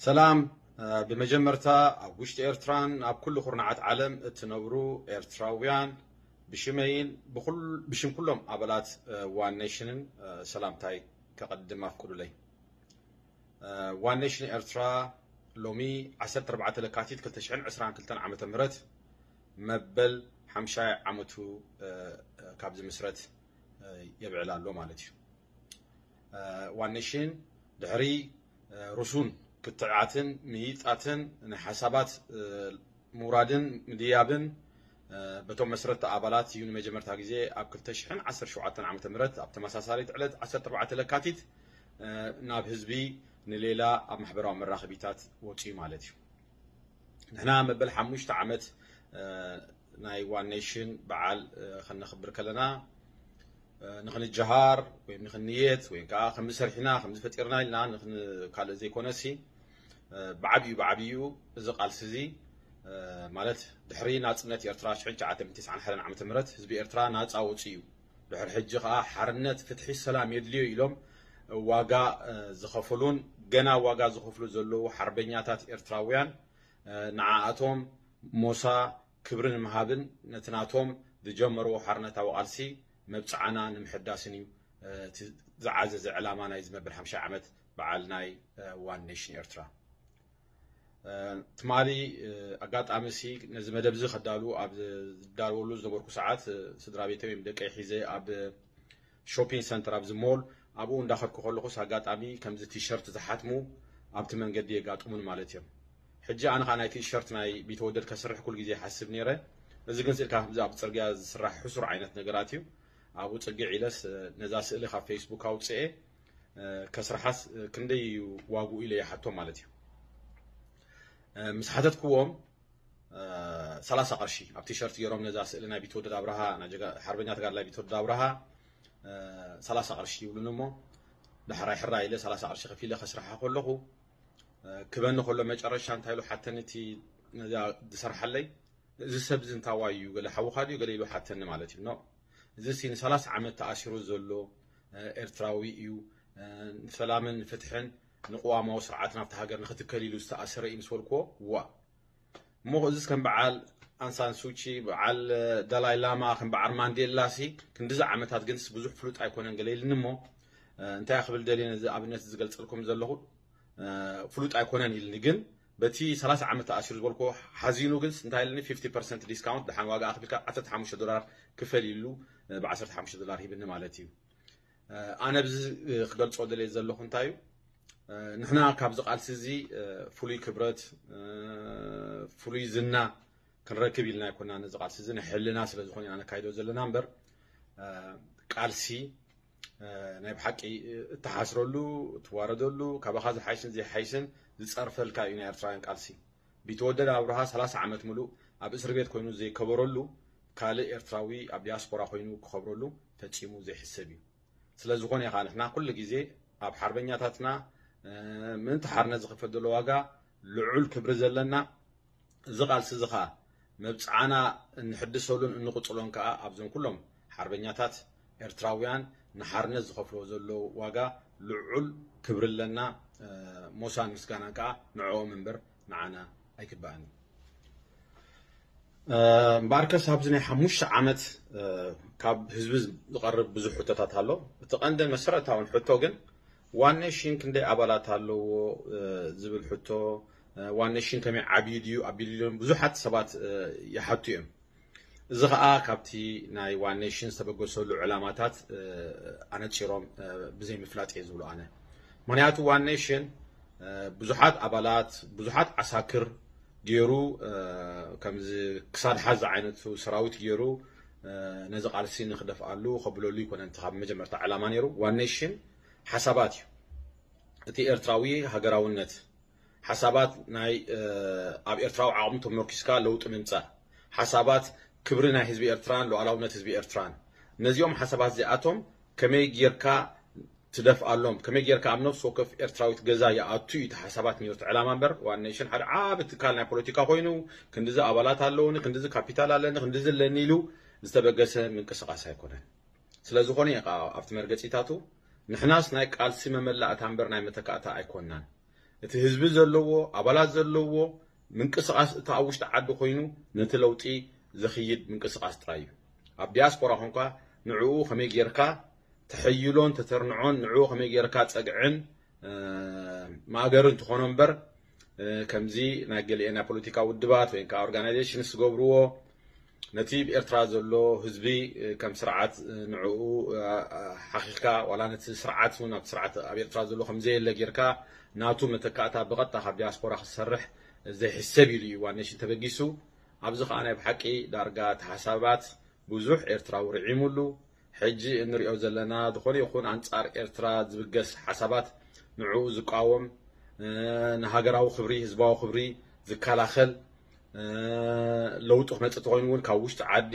ሰላም። ብመጀመርታ ኣብ ውሽጢ ኤርትራን ኣብ ኩሉ ኩርናዓት ዓለም እትነብሩ ኤርትራውያን ብሽመይን ብሽም ኩሎም ኣባላት ዋን ኔሽንን ሰላምታይ ከቐድም ኣፍቅዱለይ። ዋን ኔሽን ኤርትራ ሎሚ ዓሰርተ ኣርባዕተ ለካቲት ክልተ ሽሕን ዕስራን ክልተን ዓመተ ምህረት መበል ሓምሻይ ዓመቱ ካብ ዝምስረት የብዕል ኣሎ ማለት እዩ። ዋን ኔሽን ድሕሪ ርሱን ክትዕዓትን ምይይጣትን ናይ ሓሳባት ምውራድን ምድያብን በቶም መስረትቲ ኣባላት እዩ ንመጀመርታ ግዜ ኣብ ክልተ ሽሕን ዓሰርተ ሸውዓተን ዓመተ ምህረት ኣብ ተመሳሳሊት ዕለት ዓሰርተ ኣርባዕተ ለካቲት ናብ ህዝቢ ንሌላ ኣብ ማሕበራዊ መራኸቢታት ወፂኡ ማለት እዩ። ንሕና መበል ሓሙሽተ ዓመት ናይ ዋን ኔሽን በዓል ከነኽብር ከለና ንኽንጀሃር ወይ ንኽንየት ወይ ከዓ ከምዚ ሰሪሕና ከምዚ ፈጢርና ኢልና ካልእ ዘይኮነሲ ብዓብዩ ብዓብዩ እዚ ቃልሲ እዚ ማለት ድሕሪ ናፅነት ኤርትራ ሽሕን ትሽዓተ ሚእትን ተስዓን ሓደን ዓመተ ምህረት ህዝቢ ኤርትራ ናፃ ወፂኡ እዩ። ድሕሪ ሕጂ ከዓ ሓርነት፣ ፍትሒ፣ ሰላም የድልዮ ኢሎም ዋጋ ዝኸፈሉን ገና ዋጋ ዝኸፍሉ ዘለዉ ሓርበኛታት ኤርትራውያን ንዓኣቶም ሞሳ ክብሪ ንምሃብን ነቲ ናቶም ዝጀመርዎ ሓርነታዊ ቃልሲ መብፅዓና ንምሕዳስን እዩ እቲ ዝዓዘዘ ዕላማ ናይ ዝመበል ሓምሻይ ዓመት በዓል ናይ ዋን ኔሽን ኤርትራ። ትማሊ ኣጋጣሚ ሲ ነዚ መደብ እዚ ከዳሉ ኣብ ዝዳለወሉ ዝነበርኩ ሰዓት ስድራ ቤተይ ወይም ደቀይ ሒዘ ኣብ ሾፒንግ ሰንተር ኣብዚ ሞል ኣብኡ እንዳኸድኩ ከለኹስ ኣጋጣሚ ከምዚ ቲሸርት ዝሓትሙ ኣብቲ መንገዲ የጋጥሙን ማለት እዮም። ሕጂ ኣነ ከዓ ናይ ቲሸርት ናይ ቢተወደድ ከስርሕ ኩል ግዜ ይሓስብ ነይረ። እዚ ግን ስኢልካ ከምዚ ኣብ ፅርግያ ዝስራሕ ሕሱር ዓይነት ነገራት እዩ። ኣብኡ ፅግዕ ኢለስ ነዛ ስእሊ ካብ ፌስቡክ ኣውፅኤ ከስርሓስ ክንደይ እዩ ዋግኡ ኢለ ይሓቶ ማለት እዩ። ምስ ሓተትክዎም ሰላሳ ቅርሺ ኣብ ቲሸርት ገይሮም ነዛ ስእሊ ናይ ቢትወደድ ኣብርሃ ሓርበኛ ተጋድላይ ቢትወደድ ኣብርሃ ሰላሳ ቅርሺ ይብሉን እሞ ዳሕራይ ሕራይ ኢለ ሰላሳ ቅርሺ ከፊለ ከስርሓ ከለኹ ክበኒ ከሎ መጨረሻ እንታይ ኢሉ ሓተኒ እቲ ነዛ ዝሰርሓለይ እዚ ሰብ እዚ እንታዋይ እዩ ገለ ሓውኻ ድዩ ገለ ኢሉ ሓተኒ ማለት እዩ። እዚ ሲ ንሰላሳ ዓመት ተኣሲሩ ዘሎ ኤርትራዊ እዩ። ንሰላምን ንፍትሕን ንቅዋማዊ ስርዓት ናብቲ ሃገር ንክትከል ኢሉ ዝተኣሰረ እዩ ምስ በልክዎ ዋ እሞ እዚስ ከም በዓል ኣንሳን ሱቺ በዓል ዳላይ ላማ ከም በዓል ማንዴላ ሲ ክንዲዚ ዓመታት ግንስ ብዙሕ ፍሉጥ ኣይኮነን ገለ ኢልኒ እሞ እንታይ ክብል ደልየ ነዚ ኣብነት ዝገልፀልኩም ዘለኹ ፍሉጥ ኣይኮነን ኢልኒ ግን በቲ ሰላሳ ዓመት ተኣሲሩ ዝበልኮ ሓዚኑ ግን እንታይ ኢልኒ ፊፍቲ ፐርሰንት ዲስካውንት ደሓን ዋጋ ኣኽቢልካ ዓሰርተ ሓሙሽተ ዶላር ክፈል ኢሉ ብ ዓሰርተ ሓሙሽተ ዶላር ሂብኒ ማለት እዩ። ኣነ ብዚ ክገልፆ ደልየ ዘለኹ እንታይ እዩ ንሕና ካብዚ ቃልሲ እዚ ፍሉይ ክብረት ፍሉይ ዝና ክንረክብ ኢልና ኣይኮና ነዚ ቃልሲ እዚ ንሕልና ስለ ዝኾነ ኢና ነካይዶ ዘለና እምበር ቃልሲ ናይ ብሓቂ እተሓስረሉ እትዋረደሉ ካባኻ ዝሓይሽን ዘይሓይሽን ዝፀርፈልካ እዩ ናይ ኤርትራውያን ቃልሲ። ቢተወደድ ኣብርሃ ሰላሳ ዓመት ሙሉእ ኣብ እስር ቤት ኮይኑ ዘይከበረሉ ካልእ ኤርትራዊ ኣብ ዲያስፖራ ኮይኑ ክኸብረሉ ፈጺሙ ዘይሕሰብ እዩ። ስለ ዝኾነ ኢኻ ንሕና ኩሉ ግዜ ኣብ ሓርበኛታትና ምእንቲ ሓርነት ዝኽፈል ዘሎ ዋጋ ልዑል ክብሪ ዘለና እዚ ቃልሲ እዚ ኸኣ መብጽዓና እንሕድሰሉን እንቕጽሎን ከኣ ኣብዞም ኩሎም ሓርበኛታት ኤርትራውያን ንሓርነት ዝኸፍልዎ ዘለዉ ዋጋ ልዑል ክብሪ ኣለና። ሞሳን ምስጋናን ከኣ ንዕኦም እምበር ንዓና ኣይግባእን እዩ። እምበኣርከስ ኣብዚ ናይ ሓሙሽተ ዓመት ካብ ህዝቢ ዝቐርብ ብዙሕ ሕቶታት ኣሎ። እቲ ቀንድን መሰረታውን ሕቶ ግን ዋን ኔሽን ክንደይ ኣባላት ኣለዎ ዝብል ሕቶ፣ ዋን ኔሽን ከመይ ዓብዩ ድዩ ኣብ ቢልዮን ብዙሓት ሰባት ይሓቱ እዮም። እዚ ኸኣ ካብቲ ናይ ዋን ኔሽን ዝተበገሰሉ ዕላማታት ኣነጺሮም ብዘይምፍላጥ እየ ዝብሎ ኣነ። ምኽንያቱ ዋን ኔሽን ብዙሓት ኣባላት ብዙሓት ዓሳክር ገይሩ ከምዚ ክሳድ ሓዝ ዝዓይነቱ ሰራዊት ገይሩ ነዚ ቃልሲ ንክደፍኣሉ ከብለሉ ይኮነን እቲ ካብ መጀመርታ ዕላማ ነይሩ። ዋን ኔሽን ሓሳባት እዩ። እቲ ኤርትራዊ ሃገራውነት ሓሳባት ናይ ኣብ ኤርትራዊ ዓቕሚ ተመርኪስካ ለውጢ ምምጻእ ሓሳባት ክብሪ ናይ ህዝቢ ኤርትራን ሉዓላውነት ህዝቢ ኤርትራን ነዚኦም ሓሳባት እዚኣቶም ከመይ ጌርካ ትደፍኣሎም ከመይ ጌርካ ኣብ ነፍሲ ወከፍ ኤርትራዊት ገዛ ይኣቱ እዩ እቲ ሓሳባት ነይሩ እቲ ዕላማ እምበር ዋን ኔሽን ሓደ ዓቢ ትካል ናይ ፖለቲካ ኮይኑ ክንድዚ ኣባላት ኣለውኒ ክንድዚ ካፒታል ኣለኒ ክንድዚ ኣለኒ ኢሉ ዝተበገሰ ምንቅስቃስ ኣይኮነን። ስለ ዝኾነ እዩ ከዓ ኣብቲ መርገጺታቱ ንሕናስ ናይ ቃልሲ መመላእታ እምበር ናይ መተካእታ ኣይኮንናን። እቲ ህዝቢ ዘለዎ፣ ኣባላት ዘለዎ ምንቅስቓስ፣ እቲ ኣብ ውሽጢ ዓዲ ኮይኑ ነቲ ለውጢ ዘኽይድ ምንቅስቓስ ጥራይ እዩ። ኣብ ዲያስፖራ ኮንካ ንዕኡ ከመይ ጌርካ ተሐይሎን ተተርንዖን፣ ንዕኡ ከመይ ጌርካ ጸግዕን ማእገርን ትኾኖ እምበር፣ ከምዚ ናይ ገሊኤን ናይ ፖለቲካ ውድባት ወይ ከዓ ኦርጋናይዜሽንስ ዝገብርዎ፣ ነቲ ብኤርትራ ዘሎ ህዝቢ ከም ስርዓት ንዕኡ ሓኺኽካ፣ ዋላ ነቲ ስርዓት እውን፣ ኣብቲ ስርዓት ኣብ ኤርትራ ዘሎ ከም ዘየለ ጌርካ፣ ናቱ መተካእታ ብቐጥታ ካብ ዲያስፖራ ክሰርሕ ዘይሕሰብ ኢሉ እዩ ዋን ኔሽን ተበጊሱ። ኣብዚ ከዓ ናይ ብሓቂ ዳርጋ ተሓሳባት ብዙሕ ኤርትራዊ ርዒሙሉ። ሕጂ እንሪኦ ዘለና ዝኾነ ይኹን ኣንጻር ኤርትራ ዝብገስ ሓሳባት፣ ንዕኡ ዝቃወም፣ ንሃገራዊ ክብሪ፣ ህዝባዊ ክብሪ ዝከላኸል፣ ለውጢ ክመጽእ ተኾይኑ እውን ካብ ውሽጢ ዓዲ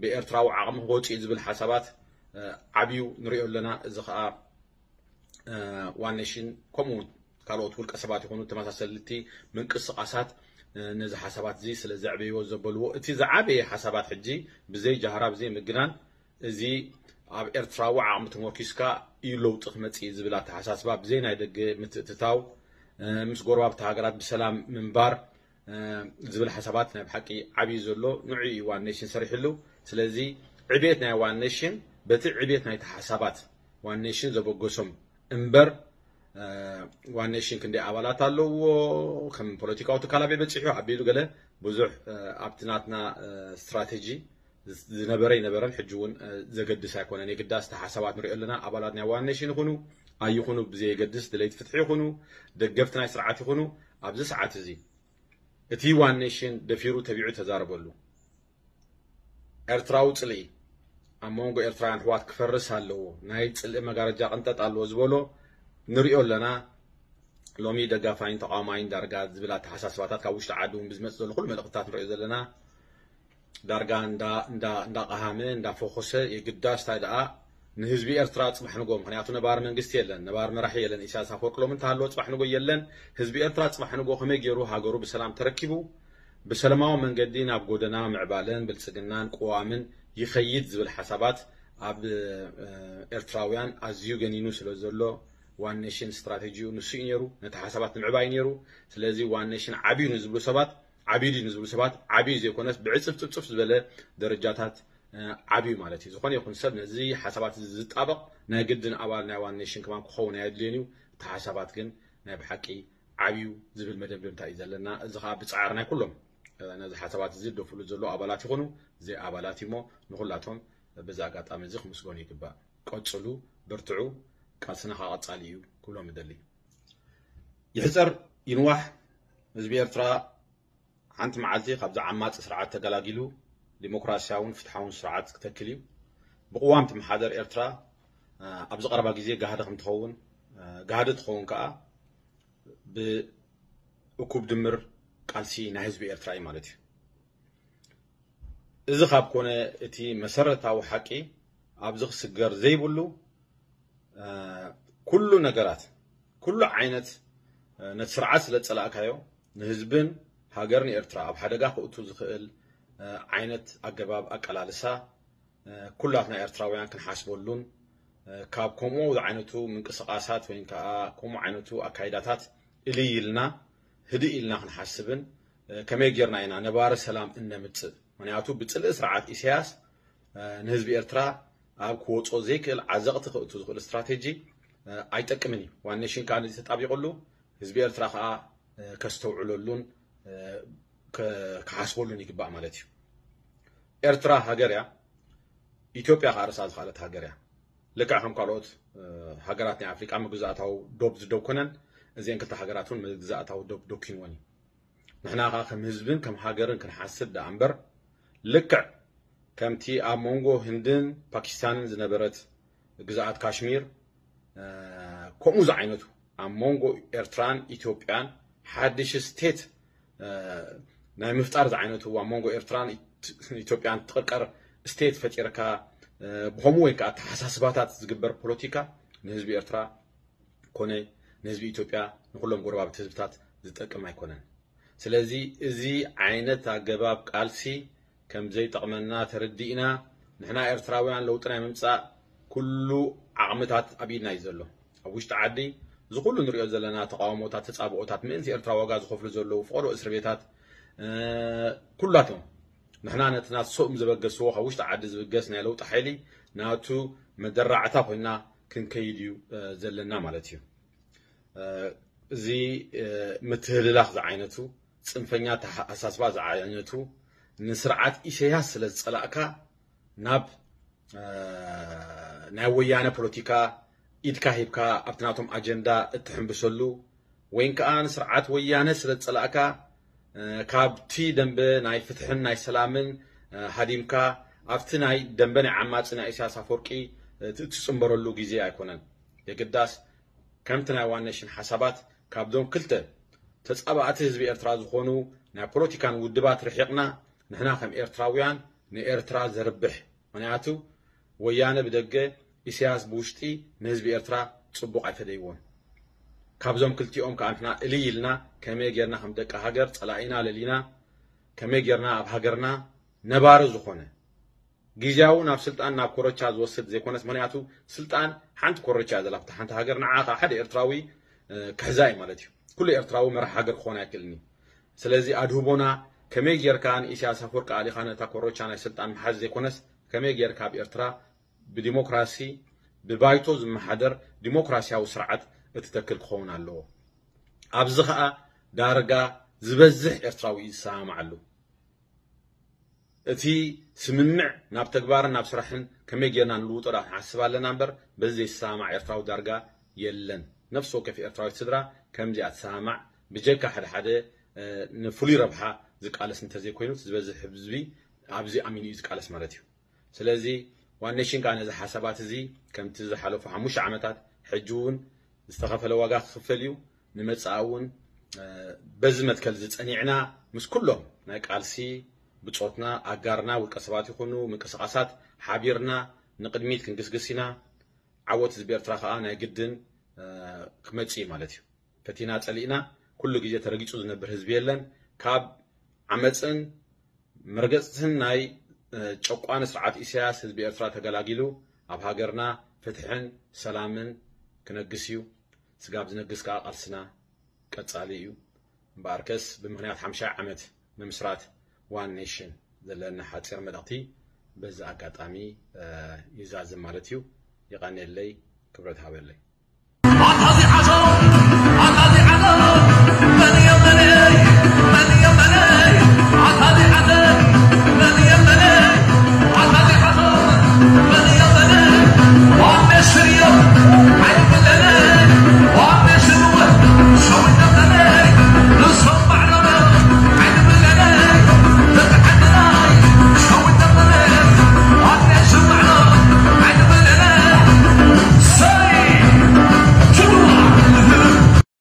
ብኤርትራዊ ዓቕሚ ክወጽእ እዩ ዝብል ሓሳባት ዓብዩ ንሪኦ ኣለና። እዚ ከዓ ዋን ኔሽን ከምኡ እውን ካልኦት ውልቀ ሰባት ይኹኑ ተመሳሰልቲ ምንቅስቓሳት ነዚ ሓሳባት እዚ ስለ ዘዕበይዎ ዘበልዎ፣ እቲ ዝዓበየ ሓሳባት ሕጂ ብዘይ ጃህራ፣ ብዘይ ምግናን፣ እዚ ኣብ ኤርትራዊ ዓቕሚ ተመርኪስካ እዩ ለውጢ ክመጽእ ዝብል ኣተሓሳስባ፣ ብዘይ ናይ ደገ ምትእትታው፣ ምስ ጎረባብቲ ሃገራት ብሰላም ምንባር ዝብል ሓሳባት ናይ ብሓቂ ዓብዩ ዘሎ፣ ንዑ እዩ ዋን ኔሽን ሰሪሕሉ። ስለዚ ዕቤት ናይ ዋን ኔሽን በቲ ዕቤት ናይቲ ሓሳባት ዋን ኔሽን ዘበገሶም እምበር፣ ዋን ኔሽን ክንደይ ኣባላት ኣለዎ፣ ከም ፖለቲካዊ ትካል ኣበይ በፂሑ፣ ኣቢሉ ገለ ብዙሕ ኣብቲ ናትና ስትራቴጂ ዝነበረ ይነበረን ሕጂ እውን ዘገድስ ኣይኮነን። የግዳስ እቲ ሓሳባት ንሪኦ ኣለና። ኣባላት ናይ ዋን ኔሽን ይኹኑ ኣይኹኑ ብዘየገድስ፣ ደለይቲ ፍትሒ ይኹኑ ደገፍቲ ናይ ስርዓት ይኹኑ፣ ኣብዚ ሰዓት እዚ እቲ ዋን ኔሽን ደፊሩ ተቢዑ ተዛረበሉ። ኤርትራዊ ጽልኢ ኣብ መንጎ ኤርትራውያን ኣሕዋት ክፈርስ ኣለዎ፣ ናይ ጽልኢ መጋረጃ ቅንጠጥ ኣለዎ ዝበሎ ንሪኦ ኣለና። ሎሚ ደጋፋይን ተቃዋማይን ዳርጋ ዝብል ኣተሓሳስባታት ካብ ውሽጢ ዓዲ እውን ብዝመጽእ ዘሎ ኩሉ መልእኽትታት ንሪኦ ዘለና። ዳርጋ እንዳ እንዳ እንዳቀሃመ እንዳፈኾሰ፣ የግዳስ እንታይ ደኣ ንህዝቢ ኤርትራ ጽባሕ ንጎ፣ ምኽንያቱ ነባሪ መንግስቲ የለን፣ ነባሪ መራሒ የለን። ኢሳያስ ኣፈወርቂ ሎሚ እንተሃለወ ጽባሕ ንጎ የለን። ህዝቢ ኤርትራ ጽባሕ ንጎ ከመይ ገይሩ ሃገሩ ብሰላም ተረኪቡ ብሰላማዊ መንገዲ ናብ ጎደና ምዕባለን ብልጽግናን ቅዋምን ይኸይድ ዝብል ሓሳባት ኣብ ኤርትራውያን ኣዝዩ ገኒኑ ስለ ዘሎ፣ ዋን ኔሽን ስትራቴጂኡ ንሱ እዩ ነይሩ። ነቲ ሓሳባት ንምዕባይ ነይሩ። ስለዚ ዋን ኔሽን ዓብዩ ንዝብሉ ሰባት ዓብዩ ድዩ ንዝብሉ ሰባት ዓብዩ ዘይኮነስ ብዕጽፍጽፍጽፍ ዝበለ ደረጃታት ዓብዩ ማለት እዩ። ዝኾነ ይኹን ሰብ ነዚ ሓሳባት እዚ ዝጣበቕ ናይ ግድን ኣባል ናይ ዋን ኔሽን ከማን ክኸውን ኣየድልዮን እዩ። እቲ ሓሳባት ግን ናይ ብሓቂ ዓብዩ ዝብል መደምደምታ እዩ ዘለና። እዚ ከዓ ብጻዕሪ ናይ ኩሎም ነዚ ሓሳባት እዚ ዝደፍሉ ዘለዉ ኣባላት ይኹኑ ዘይ ኣባላት እሞ ንኹላቶም በዚ ኣጋጣሚ እዚ ክምስገኑ ይግባእ። ቀጽሉ፣ በርትዑ፣ ቃልስና ከዓ ቀጻሊ እዩ ክብሎም እደሊ። ይሕጸር ይንዋሕ ህዝቢ ኤርትራ ሓንቲ መዓልቲ ካብዚ ዓማጺ ስርዓት ተገላጊሉ ዲሞክራሲያውን ፍትሓውን ስርዓት ክተክል እዩ። ብቅዋም ትመሓደር ኤርትራ ኣብዚ ቀረባ ግዜ ጋህዲ ከም ትኸውን፣ ጋህዲ ትኸውን ከዓ ብእኩብ ድምር ቃልሲ ናይ ህዝቢ ኤርትራ እዩ ማለት እዩ። እዚ ካብ ኮነ እቲ መሰረታዊ ሓቂ ኣብዚ ክስገር ዘይብሉ ኩሉ ነገራት፣ ኩሉ ዓይነት ነቲ ስርዓት ስለ ዝጸላእካዮ ንህዝብን ሃገርን ኤርትራ ኣብ ሓደጋ ክእቱ ዝኽእል ዓይነት ኣገባብ ኣቀላልሳ ኩላትና ኤርትራውያን ክንሓስበሉን ካብ ከምኡ ዝዓይነቱ ምንቅስቓሳት ወይ ከዓ ከምኡ ዓይነቱ ኣካይዳታት እልይ ኢልና ህድእ ኢልና ክንሓስብን ከመይ ጌርና ኢና ነባሪ ሰላም እነምጽእ? ምኽንያቱ ብጽልኢ ስርዓት ኢሳያስ ንህዝቢ ኤርትራ ኣብ ክወጾ ዘይክእል ዓዘቕቲ ክእቱ ዝኽእል ስትራቴጂ ኣይጠቅምን እዩ። ዋን ኔሽን ከዓ ነዚ ተጣቢቑሉ ህዝቢ ኤርትራ ከዓ ከስተውዕለሉን ክሓስበሉን ይግባእ ማለት እዩ። ኤርትራ ሃገር እያ። ኢትዮጵያ ከዓ ርእሳ ዝኸኣለት ሃገር እያ። ልክዕ ከም ካልኦት ሃገራት ናይ ኣፍሪቃ መግዛእታዊ ዶብ ዝደኮነን እዚአን ክልተ ሃገራት እውን መግዛእታዊ ዶብ ደኪንወን እዩ። ንሕና ከዓ ከም ህዝብን ከም ሃገርን ክንሓስብ ደኣ እምበር ልክዕ ከምቲ ኣብ መንጎ ህንድን ፓኪስታንን ዝነበረት ግዝኣት ካሽሚር ከምኡ ዝዓይነቱ ኣብ መንጎ ኤርትራን ኢትዮጵያን ሓድሽ ስቴት ናይ ምፍጣር ዝዓይነቱ ኣብ መንጎ ኤርትራን ኢትዮጵያን ትቕርቀር ስቴት ፈጢርካ ብኸምኡ ወይ ከዓ ኣተሓሳስባታት ዝግበር ፖለቲካ ንህዝቢ ኤርትራ ኮነ ንህዝቢ ኢትዮጵያ ንኩሎም ጎረባብቲ ህዝብታት ዝጠቅም ኣይኮነን። ስለዚ እዚ ዓይነት ኣገባብ ቃልሲ ከም ዘይጠቕመና ተረዲእና ንሕና ኤርትራውያን ለውጢ ናይ ምምጻእ ኩሉ ዓቕምታት ኣብ ኢድና እዩ ዘሎ። ኣብ ውሽጢ ዓዲ እዚ ኩሉ ንሪኦ ዘለና ተቃውሞታት፣ ተጻብኦታት፣ ምእንቲ ኤርትራ ዋጋ ዝኸፍሉ ዘለዉ ፍቐዶ እስር ቤታት፣ እ፣ ኩላቶም ንሕና ነቲ ናሶም ዘበገስዎ ካብ ውሽጢ ዓዲ ዝብገስ ናይ ለውጢ ሓይሊ ናቱ መደራዕታ ኮይና ክንከይድ እዩ፣ እ፣ ዘለና ማለት እዩ። እ፣ እዚ፣ እ፣ ምትህልላኽ ዝዓይነቱ፣ ጽንፈኛ ተሓሳስባ ዝዓይነቱ፣ ንስርዓት ኢሰያስ ስለ ዝጸላእካ ናብ፣ እ፣ ናይ ወያነ ፖለቲካ ኢድካ ሂብካ ኣብቲ ናቶም ኣጀንዳ እትሕምብሰሉ፣ ወይን ከኣ ንስርዓት ወያነ ስለ ዝጸላእካ፣ እ፣ ካብቲ ደንበ ናይ ፍትሕን ናይ ሰላምን፣ እ፣ ሃዲምካ ኣብቲ ናይ ደንበ ናይ ዓማጺ ናይ ኢሳያስ ኣፈወርቂ፣ እ፣ እትጽንበረሉ ግዜ ኣይኮነን። የግዳስ ከምቲ ናይ ዋን ኔሽን ሓሳባት ካብዞም ክልተ ተጻባእቲ ህዝቢ ኤርትራ ዝኾኑ ናይ ፖለቲካን ውድባት ርሒቕና፣ ንሕና ከም ኤርትራውያን ንኤርትራ ዘርብሕ፣ ምኽንያቱ ወያነ ብደገ፣ ኢሳያስ ብውሽጢ ንህዝቢ ኤርትራ ጽቡቕ ኣይፈደይዎን። ካብዞም ክልቲኦም ከኣ ንሕና እልይ ኢልና ከመይ ጌርና ከም ደቂ ሃገር ጸላኢና ለሊና ከመይ ጌርና ኣብ ሃገርና ነባሪ ዝኾነ ግዝያዊ ናብ ስልጣን ናብ ኮረቻ ዝወስድ ዘይኮነስ፣ ምኽንያቱ ስልጣን ሓንቲ ኮረቻ እያ ዘላ ኣብታ ሓንቲ ሃገር፣ ንዓ ከኣ ሓደ ኤርትራዊ፣ እ፣ ክሕዛ እዩ ማለት እዩ። ኩሉ ኤርትራዊ መራሕ ሃገር ክኾን ኣይክእልን እዩ። ስለዚ ኣድህቦና ከመይ ጌርካ ንኢሳያስ ኣፈወርቂ ኣሊኻ ነታ ኮረቻ ናይ ስልጣን ምሓዝ ዘይኮነስ፣ ከመይ ጌርካ ኣብ ኤርትራ ብዲሞክራሲ ብባይቶ ዝመሓደር ዲሞክራሲያዊ ስርዓት እትተክል ክኸውን ኣለዎ። ኣብዚ ኸኣ ዳርጋ ዝበዝሕ ኤርትራዊ እዩ ዝሰማማዓሉ። እቲ ስምምዕ ናብ ተግባርን ናብ ስራሕን ከመይ ጌርና ንልውጦ ዳ ክንሓስብ ኣለና እምበር፣ በዚ ዘይሰማማዕ ኤርትራዊ ዳርጋ የለን። ነፍሲ ወከፍ ኤርትራዊት ስድራ ከምዚኣ ትሰማማዕ፣ ብጀካ ሓደ ሓደ፣ እ፣ ንፍሉይ ረብሓ ዝቃለስ እንተዘይኮይኑ፣ እቲ ዝበዝሕ ህዝቢ ኣብዚ ኣሚኑ እዩ ዝቃለስ ማለት እዩ። ስለዚ ዋን ኔሽን ከኣ ነዚ ሓሳባት እዚ ከምቲ ዝሓለፉ ሓሙሽተ ዓመታት ሕጂ እውን ዝተኸፈለ ዋጋ ክኽፈል እዩ። ንመጻኢ እውን፣ እ፣ በዚ መትከል እዚ ጸኒዕና ምስ ኩሎም ናይ ቃልሲ ብጾትና፣ ኣጋርና፣ ውልቀ ሰባት ይኹኑ ምንቅስቃሳት ሓቢርና ንቕድሚት ክንግስግስ ኢና። ዓወት ህዝቢ ኤርትራ ከኣ ናይ ግድን፣ እ፣ ክመጽእ እዩ ማለት እዩ። ፈቲና ጸሊእና ኩሉ ግዜ ተረጊጹ ዝነብር ህዝቢ የለን። ካብ ዓመጽን መርገጽትን ናይ፣ እ፣ ጨቋኒ ስርዓት ኢሳያስ ህዝቢ ኤርትራ ተገላጊሉ ኣብ ሃገርና ፍትሕን ሰላምን ክነግስ እዩ። ስጋብ ዝነግስ ከኣ ቃልስና ቀጻሊ እዩ። እምበኣርከስ ብምኽንያት ሓምሻይ ዓመት ምምስራት ዋን ኔሽን ዘለና ሓጺር መልእኽቲ በዚ ኣጋጣሚ፣ እ፣ ይዛዝም ማለት እዩ። የቐንየለይ፣ ክብረት ሃበለይ።